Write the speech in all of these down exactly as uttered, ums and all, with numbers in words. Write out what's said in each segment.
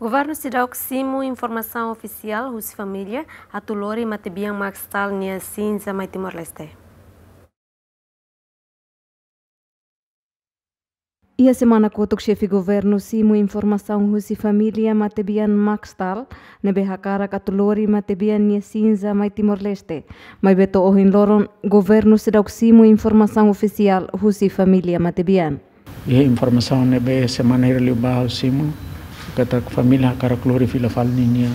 Governu seidauk simu informasaun ofisiál husi família atu lori matebian Max Stahl nia sinza mai Timor-Leste. Iha semana kotuk xefe governu simu informasaun husi família matebian Max Stahl ne'ebé hakarak atu lori matebian nia sinza mai Timor-Leste. Maibé to'o ohin loron governu seidauk simu informasaun ofisiál husi família matebian. Iha informasaun ne'ebé semana hira liubá ha'u simu katak família hakarak lori fila fali ninia,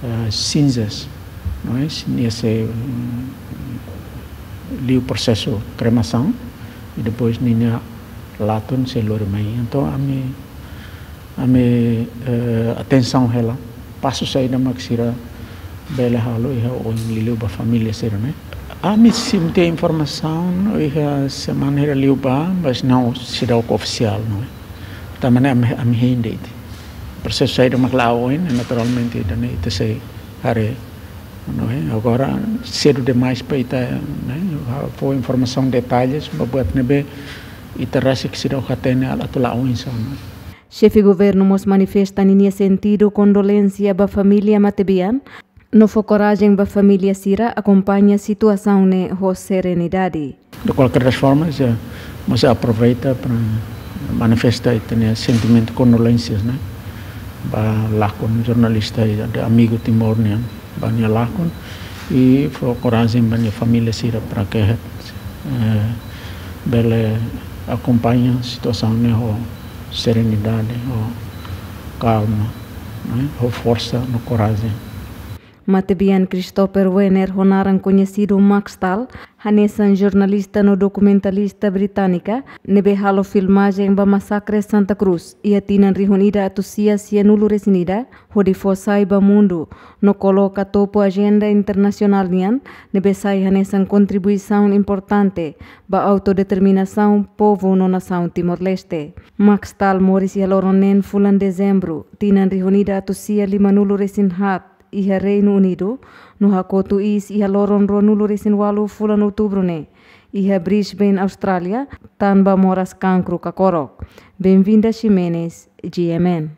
eh, sinzas, não é? Nia sei, mm, liu prosesu kremasaun i depois ninia latun sei lori mai. Entaun ami, ami, eh, atensaun hela pasu saida mak sira bele halo iha oin liuliu ba família sira ne'e. Ami simu tiha informasaun iha semana hira liubá, mas não seidauk ofisiál, não é? Tanba ne'e ami, ami hein de'it. Prosesu saida mak la'o oin, naturalmente ita ne'e ita sei haree, não é? Agora sedu demais para ita, né, fó informasaun detalles ba buat ne'ebé ita rasik seidauk hatene atu la'o oinsá, não é? Xefe governu mós manifesta ninia sentidu kondolénsia ba família matebian, no fó korajen ba família sira akompaña situasaun ne'e ho serenidade. De qualquer das formas, eh, mós aproveita para manifesta ita-nia sentimentu kondolénsias, né, ba lakon jornalista i de amigu Timor nian, ba nia lakon, i fó korajen ba nia família sira para ke, eh, bele akompaña situasaun ne'e ho serenidade, ho kalma, né, ho forsa no korajen. Matebian Christopher Wenner, ho naran koñesidu Max Stahl, hanesan jornalista no dokumentalista británika ne'ebé halo filmajen ba masakre Santa Cruz iha tinan rihun ida atus sia sianulu resin ida, hodi fó sai ba mundu no koloka topu ajenda internasionál nian, ne'ebé sai hanesan kontribuisaun importante ba autodeterminasaun povu no nasaun Timor-Leste. Max Stahl moris iha loron neen fulan Dezembru, tinan rihun ida atus sia limanulu resin haat, iha Reinu Unidu, no hakotu iis iha loron ruanulu resin ualu fulan Outubru ne'e, iha Brisbane, Austrália, tanba moras kankru kakorok. Benvinda Ximenes, G M N.